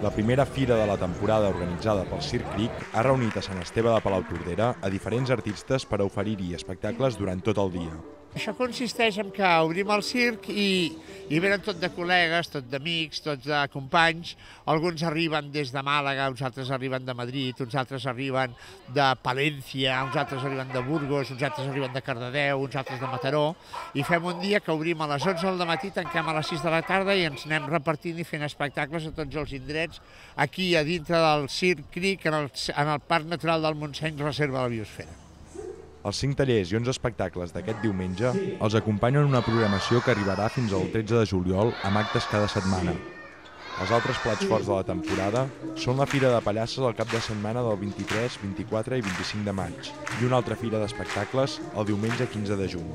La primera fira de la temporada organitzada pel Circ Cric ha reunit a Sant Esteve de Palautordera a diferents artistes per a oferir-hi espectacles durant tot el dia. Això consisteix en que obrim el circ i venen tot de col·legues, tot d'amics, tots de companys. Alguns arriben des de Màlaga, uns altres arriben de Madrid, uns altres arriben de Palència, uns altres arriben de Burgos, uns altres arriben de Cardedeu, uns altres de Mataró. I fem un dia que obrim a les 11 del matí, tanquem a les 6 de la tarda i ens anem repartint i fent espectacles a tots els indrets, aquí a dintre del Circ Cric, en el Parc Natural del Montseny, Reserva de la Biosfera. Els 5 tallers i 11 espectacles d'aquest diumenge els acompanyen una programació que arribarà fins al 13 de juliol amb actes cada setmana. Els altres plats forts de la temporada són la Fira de Pallasses el cap de setmana del 23, 24 i 25 de maig i una altra fira d'espectacles el diumenge 15 de juny.